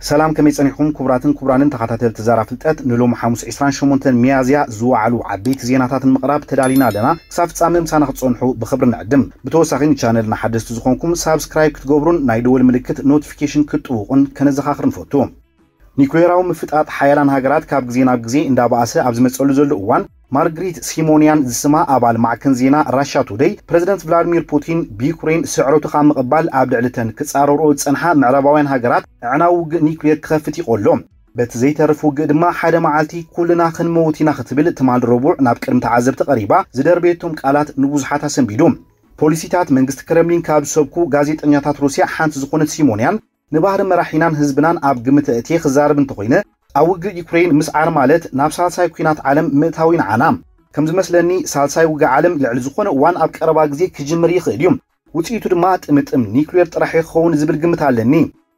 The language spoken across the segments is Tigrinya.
ሰላም፣ ከመይ ጸኒሕኩም ክቡራትን ክቡራንን ተኸታተልቲ ዛራ ፍልጠት? ንሎሚ ሓሙስ ዕስራን ሸሞንተን ሚያዝያ ዝወዓሉ ዓበይቲ ዜናታት ንምቕራብ ተዳሊና ኣለና። ክሳብ ፍጻመ ምሳና ክትጸንሑ ብኽብሪ ንዕድም። ብተወሳኺ ንቻነልና ሓደስቲ ዝኾንኩም ሳብስክራይብ ክትገብሩን ናይ ደወል ምልክት ኖቲፊኬሽን ክትጥውቑን ከነዘኻኽር ንፈቱ። ኒኩሌራዊ ምፍጣጥ ሓያላን ሃገራት ካብ ግዜ ናብ ግዜ እንዳበኣሰ ኣብ ዝመጸሉ ዘሎ እዋን፣ ማርግሪት ሲሞንያን ዝስማ ኣባል ማዕከን ዜና ራሻ ቱደይ፣ ፕረዚደንት ቭላድሚር ፑቲን ብዩክሬን ስዕረቱ ካብ ምቕባል ኣብ ልዕሊ ተን ክጻረርኦ ዝጸንሓ ምዕራባውያን ሃገራት ኣዕናዊ ውግእ ኒኩሌር ክኸፍት ይቐሎ። በቲ ዘይተርፍ ውግእ ድማ ሓደ መዓልቲ ኩልና ክንመውት ኢና ክትብል ትማል ረቡዕ ናብ ቅድሚ ተዓዘብቲ ቀሪባ ዝደርበየቶም ቃላት ንብዙሓት ኣሰንቢዱ። ፖሊሲታት መንግስቲ ክረምሊን ካብ ዝሰብኩ ጋዜጠኛታት ሩስያ ሓንቲ ዝኾነት ሲሞንያን፣ ንባህሪ መራሒናን ህዝብናን ኣብ ግምት ኣእትየ ክዛረብ እንተኾይነ፣ ኣብ ውግእ ዩክሬን ምስዓር ማለት ናብ ሳልሳይ ኲናት ዓለም ምእታው እዩ ንዓና። ከም ዝመስለኒ፣ ሳልሳይ ውግእ ዓለም ልዕሊ ዝኾነ እዋን ኣብ ቀረባ ግዜ ክጅምር ይኽእል እዩ። ውጽኢቱ ድማ ጥምጥም ኒክሌር ጥራሕ እዩ ክኸውን ዝብል ግምት ኣለኒ።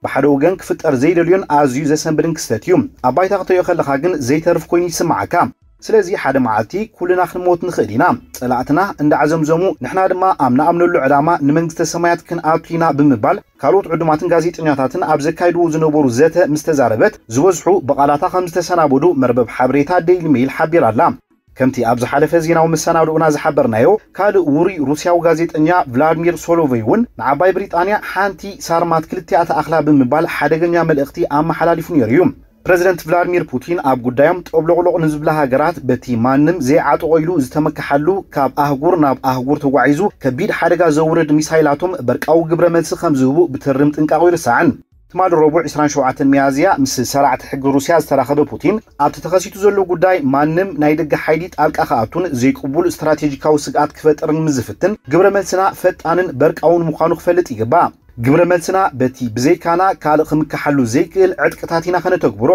ብሓደ ወገን ክፍጠር ዘይደልዮን ኣዝዩ ዘሰንብድን ክስተት እዩ። ኣብ ባይታ ክትሪኦ ከለኻ ግን ዘይተርፍ ኮይኑ ይስምዓካ። ስለዚ ሓደ መዓልቲ ኩልና ክንሞት ንኽእል ኢና። ጸላእትና እንዳዓዘምዘሙ፣ ንሕና ድማ ኣብ ንኣምነሉ ዕላማ ንመንግስተ ሰማያት ክንኣቱ ኢና ብምባል ካልኦት ዕዱማትን ጋዜጠኛታትን ኣብ ዘካይድዎ ዝነበሩ ዘተ ምስ ተዛረበት፣ ዝበዝሑ ብቓላታ ከም ዝተሰናበዱ መርበብ ሓበሬታ ዴይሊ ሜይል ሓቢራ ኣላ። ከምቲ ኣብ ዝሓለፈ ዜናዊ መሰናድኦና ዝሓበርናዮ፣ ካልእ ውሩይ ሩስያዊ ጋዜጠኛ ቭላድሚር ሶሎቨይ እውን ንዓባይ ብሪጣንያ ሓንቲ ሳርማት ክልቲኣ ተኣኽላ ብምባል ሓደገኛ መልእኽቲ ኣመሓላሊፉ ነይሩ እዩ። ፕረዚደንት ቭላድሚር ፑቲን ኣብ ጉዳዮም ጠብሎቕሎቕ ንዝብላ ሃገራት፣ በቲ ማንም ዘይዓጠቖ ኢሉ ዝተመክሓሉ ካብ ኣህጉር ናብ ኣህጉር ተጓዒዙ ከቢድ ሓደጋ ዘውርድ ሚሳይላቶም በርቃዊ ግብረ መልሲ ከም ዝህቡ ብትርም ጥንቃቑ ይርሳዕን። ትማሊ ረቡዕ ዕስራን ሸውዓተን ሚያዝያ ምስ ሰራዕቲ ሕጊ ሩስያ ዝተራኸበ ፑቲን፣ ኣብቲ ተኸሲቱ ዘሎ ጉዳይ ማንም ናይ ደገ ሓይሊ ጣልቃ ክኣቱን ዘይቅቡል ስትራቴጂካዊ ስግኣት ክፈጥርን ምስ ዝፍትን፣ ግብረ መልስና ፈጣንን በርቃውን ምዃኑ ክፈልጥ ይግባእ። ግብረ መልስና በቲ ብዘይካና ካልእ ክምክሓሉ ዘይክእል ዕጥቅታት ኢና ከነተግብሮ።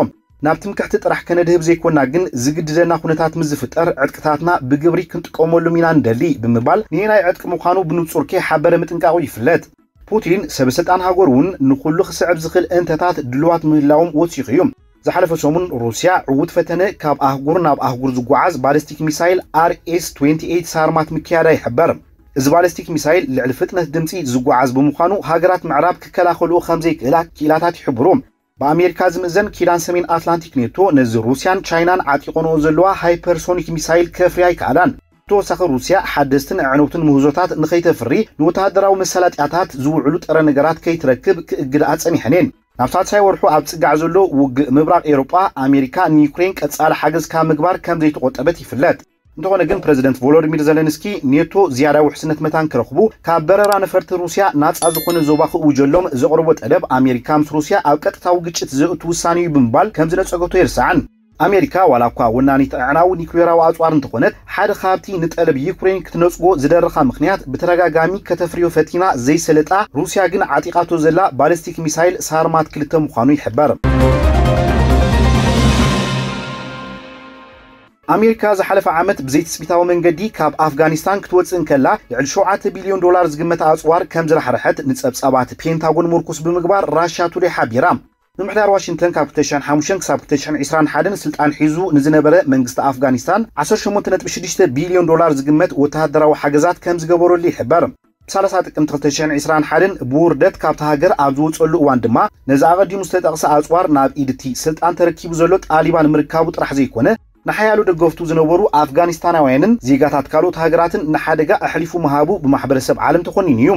ናብ ትምክሕቲ ጥራሕ ከነድህብ ዘይኮና ግን፣ ዝግድደና ኩነታት ምስ ዝፍጠር ዕጥቅታትና ብግብሪ ክንጥቀመሎም ኢና ንደሊ ብምባል፣ ንየናይ ዕጥቂ ምዃኑ ብንጹር ከይሓበረ ምጥንቃቑ ይፍለጥ። ፑቲን፣ ሰበ ስልጣን ሃገሩ እውን ንኹሉ ክስዕብ ዝኽእል እንተታት ድልዋት ምህላዎም ወሲኹ እዩ። ዝሓለፈ ሰሙን ሩስያ ዕዉት ፈተነ ካብ ኣህጉር ናብ ኣህጉር ዝጓዓዝ ባሊስቲክ ሚሳይል ኣር ኤስ ትዌንቲ ኤይት ሳርማት ምክያዳ ይሕበር። እዚ ባሊስቲክ ሚሳይል ልዕሊ ፍጥነት ድምጺ ዝጓዓዝ ብምዃኑ፣ ሃገራት ምዕራብ ክከላኸልኦ ከም ዘይክእላ ክኢላታት ይሕብሩ። ብኣሜሪካ ዝምእዘን ኪዳን ሰሜን ኣትላንቲክ ኔቶ፣ ነዚ ሩስያን ቻይናን ዓጢቐንኦ ዘለዋ ሃይፐርሶኒክ ሚሳይል ከፍርያ ኣይከኣላን። ብተወሳኺ፣ ሩስያ ሓደስትን ኣዕነውትን ምህዞታት ንኸይተፍሪ ንወተሃደራዊ መሳለጥያታት ዝውዕሉ ጥረ ነገራት ከይትረክብ ክእግድኣ ጸኒሐን እየን። ናብ ሳልሳይ ወርሑ ኣብ ጽጋዕ ዘሎ ውግእ ምብራቕ ኤውሮጳ፣ ኣሜሪካ ንዩክሬን ቀጻሊ ሓገዝ ካብ ምግባር ከም ዘይተቖጠበት ይፍለጥ። እንተኾነ ግን፣ ፕረዚደንት ቮሎዲሚር ዘለንስኪ፣ ኔቶ ዝያዳ ውሕስነት መታን ክረኽቡ፣ ካብ በረራ ነፈርቲ ሩስያ ናጻ ዝኾነ ዞባ ክእውጀሎም ዘቕረቦ ጠለብ፣ ኣሜሪካ ምስ ሩስያ ኣብ ቀጥታዊ ግጭት ዘእቱ ውሳኔ እዩ ብምባል ከም ዝነጸገቶ ኣይርሳዕን። ኣሜሪካ፣ ዋላ እኳ ወናኒት ኣዕናዊ ኒኩሌራዊ ኣጽዋር እንተኾነት፣ ሓደ ካብቲ ንጠለብ ዩክሬን ክትነጽጎ ዝደረኻ ምኽንያት፣ ብተደጋጋሚ ከተፍርዮ ፈቲና ዘይሰለጣ፣ ሩስያ ግን ዓጢቓቶ ዘላ ባሊስቲክ ሚሳይል ሳርማት ክልተ ምዃኑ ይሕበር። ኣሜሪካ ዝሓለፈ ዓመት ብዘይትጽቢታዊ መንገዲ ካብ ኣፍጋኒስታን ክትወጽእ እንከላ፣ ልዕሊ ሸውዓተ ቢልዮን ዶላር ዝግመት ኣጽዋር ከም ዝራሕረሐት ንጸብጻባት ፔንታጎን ምርኩስ ብምግባር ራሻ ቱዴይ ሓቢራ። ምምሕዳር ዋሽንግተን ካብ ክልተ ሽሕን ሓሙሽተን ክሳብ ክልተ ሽሕን ዕስራን ሓደን ስልጣን ሒዙ ንዝነበረ መንግስቲ ኣፍጋኒስታን ዓሰርተ ሸሞንተ ነጥቢ ሽዱሽተ ቢልዮን ዶላር ዝግመት ወተሃደራዊ ሓገዛት ከም ዝገበረሉ ይሕበር። ብሳልሳ ጥቅምቲ ክልተ ሽሕን ዕስራን ሓደን ብውርደት ካብታ ሃገር ኣብ ዝወጸሉ እዋን ድማ፣ ነዚ ኣቐዲሙ ዝተጠቕሰ ኣጽዋር ናብ ኢድ እቲ ስልጣን ተረኪቡ ዘሎ ጣሊባን ምርካቡ ጥራሕ ዘይኮነ፣ ንሓያሎ ደገፍቱ ዝነበሩ ኣፍጋኒስታናውያንን ዜጋታት ካልኦት ሃገራትን ንሓደጋ ኣሕሊፉ ምሃቡ ብማሕበረሰብ ዓለም ተኾኒኑ እዩ።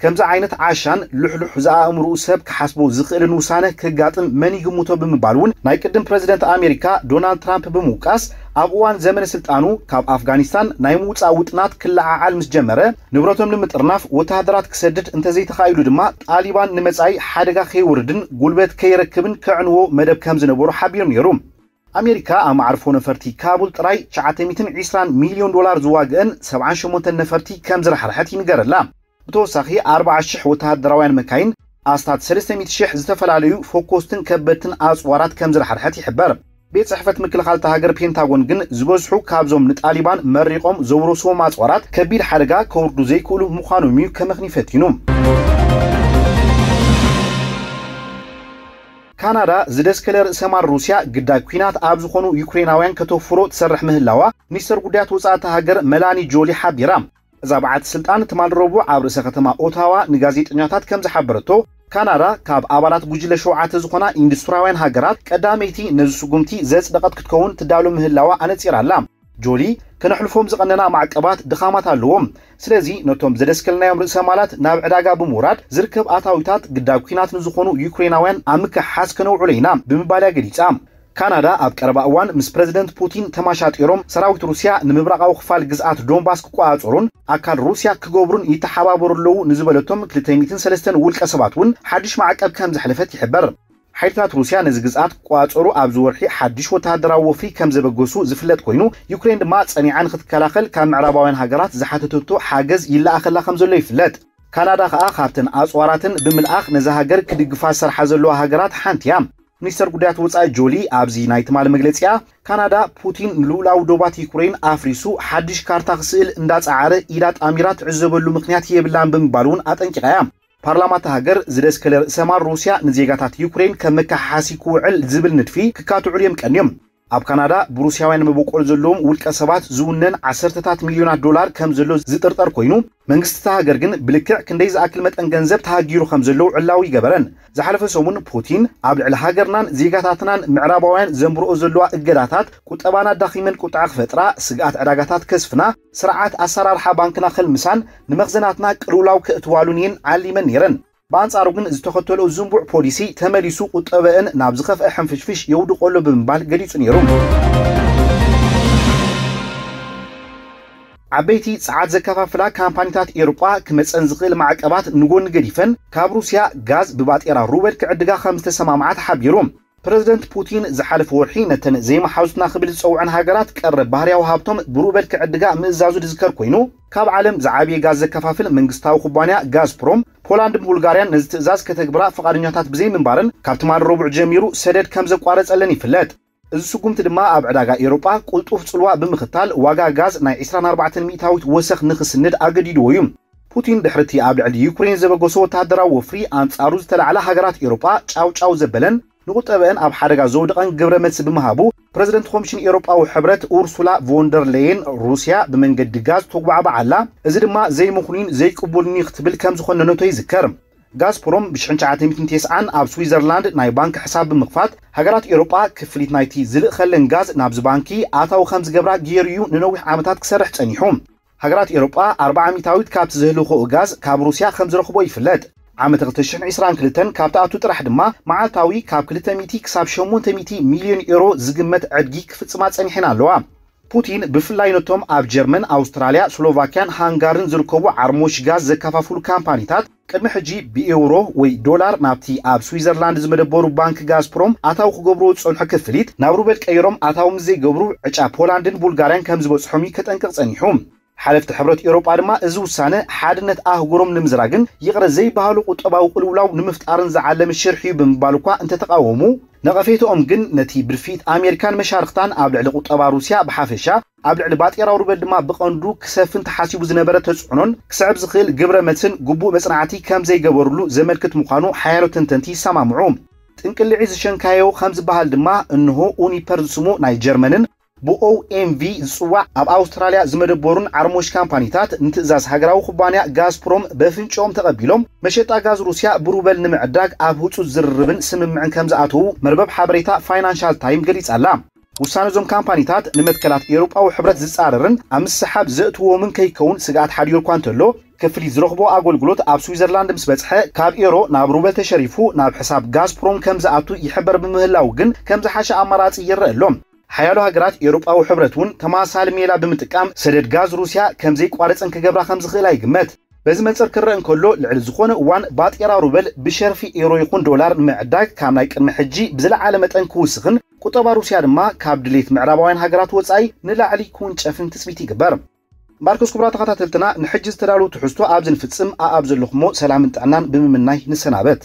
ከምዚ ዓይነት ዓሻን ልሕሉሕ ዝኣእምርኡ ሰብ ክሓስቦ ዝኽእልን ውሳነ ክጋጥም መን ይግምቶ ብምባል እውን ናይ ቅድም ፕረዚደንት ኣሜሪካ ዶናልድ ትራምፕ ብምውቃስ፣ ኣብ እዋን ዘመነ ስልጣኑ ካብ ኣፍጋኒስታን ናይ ምውጻእ ውጥናት ክለዓዓል ምስ ጀመረ፣ ንብረቶም ንምጥርናፍ ወተሃደራት ክሰድድ እንተዘይተኻኢሉ ድማ፣ ጣሊባን ንመጻኢ ሓደጋ ከይወርድን ጉልበት ከይረክብን ከዕንዎ መደብ ከም ዝነበሮ ሓቢሩ ነይሩ። ኣሜሪካ ኣብ መዓርፎ ነፈርቲ ካቡል ጥራይ ትሽዓተ ሚእትን ዕስራን ሚልዮን ዶላር ዝዋግአን ሰብዓን ሸሞንተን ነፈርቲ ከም ዝራሕረሐት ይንገረላ። ብተወሳኺ፣ ኣርብዓ ሽሕ ወተሃደራውያን መካይን፣ ኣስታት ሰለስተ ሚእቲ ሽሕ ዝተፈላለዩ ፈኮስትን ከበድትን ኣጽዋራት ከም ዝራሕረሐት ይሕበር። ቤት ጽሕፈት ምክልኻል እታ ሃገር ፔንታጎን ግን፣ ዝበዝሑ ካብዞም ንጣሊባን መሪቖም ዘውረስዎም ኣጽዋራት ከቢድ ሓደጋ ከውርዱ ዘይክእሉ ምዃኖም እዩ ከመኽኒ ፈቲኑ። ካናዳ ዝደስከለ ርእሰ ማል ሩስያ ግዳይ ኲናት ኣብ ዝኾኑ ዩክሬናውያን ከተፍሮ ትሰርሕ ምህላዋ ሚኒስተር ጉዳያት ወጻኢ እታ ሃገር መላኒ ጆሊ ሓቢራ። እዛ በዓልቲ ስልጣን ትማል ረቡዕ ኣብ ርእሰ ከተማ ኦታዋ ንጋዜጠኛታት ከም ዝሓበረቶ፣ ካናዳ ካብ ኣባላት ጉጅለ ሸውዓተ ዝኾና ኢንዱስትሪያውያን ሃገራት ቀዳመይቲ ነዚ ስጉምቲ ዘጽደቐት ክትከውን ትዳሎ ምህላዋ ኣነጺራ ኣላ። ጆሊ፣ ከነሕልፎም ዝቐነና ማዕቀባት ድኻማት ኣለዎም። ስለዚ ነቶም ዘደስከልናዮም ርእሰ ማላት ናብ ዕዳጋ ብምውራድ ዝርከብ ኣታዊታት ግዳብ ኲናት ንዝኾኑ ዩክሬናውያን ኣብ ምክሕሓስ ከነውዕሎ ኢና ብምባል እያ ገሊጻ። ካናዳ ኣብ ቀረባ እዋን ምስ ፕረዚደንት ፑቲን ተማሻጢሮም ሰራዊት ሩስያ ንምብራቓዊ ክፋል ግዝኣት ዶንባስ ክቆጻጸሩን ኣካል ሩስያ ክገብሩን ይተሓባበሩ ኣለዉ ንዝበለቶም ክልተ ሚእትን ሰለስተን ውልቀ ሰባት እውን ሓድሽ ማዕቀብ ከም ዘሕለፈት ይሕበር። ሓይልታት ሩስያ ነዚ ግዝኣት ክቆጻጸሩ ኣብዚ ወርሒ ሓድሽ ወተሃደራዊ ወፍሪ ከም ዘበገሱ ዝፍለጥ ኮይኑ፣ ዩክሬን ድማ ጸኒዓ ንክትከላኸል ካብ ምዕራባውያን ሃገራት ዝሓተተቶ ሓገዝ ይለኣኸላ ከም ዘሎ ይፍለጥ። ካናዳ ከኣ ካብተን ኣጽዋራትን ብምልኣኽ ነዛ ሃገር ክድግፋ ዝሰርሓ ዘለዋ ሃገራት ሓንቲ እያ። ሚኒስተር ጉዳያት ወጻኢ ጆሊ ኣብዚ ናይ ትማሊ መግለጺኣ፣ ካናዳ ፑቲን ንልኡላዊ ዶባት ዩክሬን ኣፍሪሱ ሓድሽ ካርታ ክስእል እንዳጸዓረ ኢዳ ጣሚራ ትዕዘበሉ ምኽንያት የብላን ብምባል እውን ኣጠንቂቓ እያ። ፓርላማ እታ ሃገር ዝደስከለ ርእሰ ማል ሩስያ ንዜጋታት ዩክሬን ከም መከሓሓሲ ክውዕል ዝብል ንድፊ ክካትዑሉ እዮም ቀንዮም። ኣብ ካናዳ ብሩስያውያን መበቆል ዘለዎም ውልቀ ሰባት ዝውነን ዓሰርተታት ሚልዮናት ዶላር ከም ዘሎ ዝጥርጠር ኮይኑ፣ መንግስቲ እታ ሃገር ግን ብልክዕ ክንደይ ዝኣክል መጠን ገንዘብ ተሃጊሩ ከም ዘሎ ዕላዊ ይገበረን። ዝሓለፈ ሰሙን ፑቲን ኣብ ልዕሊ ሃገርናን ዜጋታትናን ምዕራባውያን ዘንብርኦ ዘለዋ እገዳታት ቁጠባና ዳኺመን ቁጥዐ ክፈጥራ፣ ስግኣት ዕዳጋታት ከስፍና፣ ስርዓት ኣሰራርሓ ባንክና ከልምሳን ንመኽዘናትና ቅልውላው ከእትዋሉን እየን ዓሊመን ነይረን። ብኣንጻሩ ግን ዝተኸተሎ ዝንቡዕ ፖሊሲ ተመሊሱ ቁጠበአን ናብ ዝኸፍአ ሕንፍሽፍሽ የውድቆ ኣሎ ብምባል ገሊጹ ነይሩ። ዓበይቲ ጸዓት ዘከፋፍላ ካምፓኒታት ኤውሮጳ ክመጸን ዝኽእል ማዕቀባት ንጎኒ ገዲፈን ካብ ሩስያ ጋዝ ብባጤራ ሩበል ክዕድጋ ከም ዝተሰማምዓ ተሓቢሩ። ፕረዚደንት ፑቲን ዝሓለፈ ወርሒ ነተን ዘይመሓዙትና ክብል ዝጸውዐን ሃገራት ቀረብ ባህርያዊ ሃብቶም ብሩበል ክዕድጋ ምእዛዙ ዝዝከር ኮይኑ፣ ካብ ዓለም ዝዓበየ ጋዝ ዘከፋፍል መንግስታዊ ኩባንያ ጋዝፕሮም፣ ፖላንድን ቡልጋርያን ነዚ ትእዛዝ ከተግብራ ፍቓደኛታት ብዘይምንባረን ካብ ትማሊ ረቡዕ ጀሚሩ ሰደድ ከም ዘቋረጸለን ይፍለጥ። እዚ ስጉምቲ ድማ ኣብ ዕዳጋ ኤውሮጳ ቅልጡፍ ጽልዋ ብምኽታል ዋጋ ጋዝ ናይ ዕስራን ኣርባዕተን ሚእታዊት ወሰኽ ንኽስንድ ኣገዲድዎ እዩ። ፑቲን ድሕሪ እቲ ኣብ ልዕሊ ዩክሬን ዘበገሶ ወተሃደራዊ ወፍሪ ኣንጻሩ ዝተላዕላ ሃገራት ኤውሮጳ ጫው ጫው ዘበለን ንቁጠበአን ኣብ ሓደጋ ዘውደቐን ግብረ መልሲ ብምሃቡ፣ ፕረዚደንት ኮሚሽን ኤውሮጳዊ ሕብረት ኡርሱላ ቮንደር ሌየን ሩስያ ብመንገዲ ጋዝ ተጉባዕባዕ ኣላ፣ እዚ ድማ ዘይምኽኑይን ዘይቅቡልን እዩ ክትብል ከም ዝኾነነቶ ይዝከር። ጋዝፕሮም ብሽሕን ትሽዓተ ሚእትን ተስዓን ኣብ ስዊዘርላንድ ናይ ባንክ ሕሳብ ብምኽፋት፣ ሃገራት ኤውሮጳ ክፍሊት ናይቲ ዝልእኸለን ጋዝ ናብዚ ባንኪ ኣታዊ ከም ዝገብራ ገይሩ እዩ ንነዊሕ ዓመታት ክሰርሕ ጸኒሑ። ሃገራት ኤውሮጳ ኣርብዓ ሚእታዊት ካብቲ ዘህልኽኦ ጋዝ ካብ ሩስያ ከም ዝረኽቦ ይፍለጥ። ዓመት ክልተ ሽሕን ዕስራን ክልተን ካብ ትኣቱ ጥራሕ ድማ መዓልታዊ ካብ ክልተ ሚእቲ ክሳብ ሸሞንተ ሚእቲ ሚልዮን ኤውሮ ዝግመት ዕድጊ ክፍጽማ ጸኒሐን ኣለዋ። ፑቲን ብፍላይ ነቶም ኣብ ጀርመን፣ ኣውስትራልያ፣ ስሎቫክያን ሃንጋርን ዝርከቡ ዓርሞሽ ጋዝ ዘከፋፍሉ ካምፓኒታት ቅድሚ ሕጂ ብኤውሮ ወይ ዶላር ናብቲ ኣብ ስዊዘርላንድ ዝመደበሩ ባንክ ጋዝፕሮም ኣታዊ ክገብርዎ ዝጸንሑ ክፍሊት ናብ ሩበል ቀይሮም ኣታዊ ምስ ዘይገብሩ ዕጫ ፖላንድን ቡልጋርያን ከም ዝበጽሖም እዩ ከጠንቅቕ ጸኒሑ። ሓለፍቲ ሕብረት ኤውሮጳ ድማ እዚ ውሳነ ሓድነት ኣህጉሮም ንምዝራግን ይቕረ ዘይበሃሉ ቁጠባዊ ቅልውላው ንምፍጣርን ዝዓለመ ሽርሒ እዩ ብምባል እኳ እንተተቓወሙ፣ ነቐፌትኦም ግን ነቲ ብድፍኢት ኣሜሪካን መሻርኽታን ኣብ ልዕሊ ቁጠባ ሩስያ ብሓፈሻ፣ ኣብ ልዕሊ ባጤራዊ ሩበል ድማ ብቐንዱ ክሰፍን ተሓሲቡ ዝነበረ ተጽዕኖን ክስዕብ ዝኽእል ግብረ መልስን ግቡእ መጽናዕቲ ከም ዘይገበሩሉ ዘመልክት ምዃኑ ሓያሎ ተንተንቲ ይሰማምዑ። ጥንቅልዒ ዝሸንካዮ ከም ዝበሃል ድማ እንሆ ኡኒፐር ዝስሙ ናይ ጀርመንን ብኦኤምቪ ዝጽዋዕ ኣብ ኣውስትራልያ ዝመደበሩን ዓርሞሽ ካምፓኒታት ንትእዛዝ ሃገራዊ ኩባንያ ጋዝፕሮም በፍንጭኦም ተቐቢሎም መሸጣ ጋዝ ሩስያ ብሩበል ንምዕዳግ ኣብ ህጹጽ ዝርርብን ስምምዕን ከም ዝኣተዉ መርበብ ሓበሬታ ፋይናንሻል ታይም ገሊጻ ኣላ። ውሳነ እዞም ካምፓኒታት ንመትከላት ኤውሮጳዊ ሕብረት ዝጻረርን ኣብ ምስሓብ ዘእትዎምን ከይከውን ስግኣት ሓዲሩ እኳ እንተሎ፣ ክፍሊት ዝረኽቦ ኣገልግሎት ኣብ ስዊዘርላንድ ምስ በጽሐ ካብ ኤሮ ናብ ሩበል ተሸሪፉ ናብ ሕሳብ ጋዝፕሮም ከም ዝኣቱ ይሕበር ብምህላው ግን ከም ዝሓሸ ኣማራጺ ይረአ ኣሎ። ሓያሎ ሃገራት ኤውሮጳዊ ሕብረት እውን ተመሳሳሊ ሜላ ብምጥቃም ሰደድ ጋዝ ሩስያ ከም ዘይቋረጽን ክገብራ ከም ዝኽእላ ይግመት። በዚ መንጽር ክረአ እንከሎ፣ ልዕሊ ዝኾነ እዋን ባጤራ ሩበል ብሸርፊ ኤሮ ይኹን ዶላር ንምዕዳግ ካብ ናይ ቅድሚ ሕጂ ብዝለዓለ መጠን ክውስኽን ቁጠባ ሩስያ ድማ ካብ ድሌት ምዕራባውያን ሃገራት ወጻኢ ንላዕሊ ክውንጨፍን ትጽቢት ይግበር። ማርኮስ፣ ክቡራት ተኸታተልትና፣ ንሕጂ ዝተዳለዉ ትሕዝቶ ኣብዚ ንፍጽም። ኣኣብ ዘለኹሞ ሰላምን ጥዕናን ብምምናይ ንሰናበት።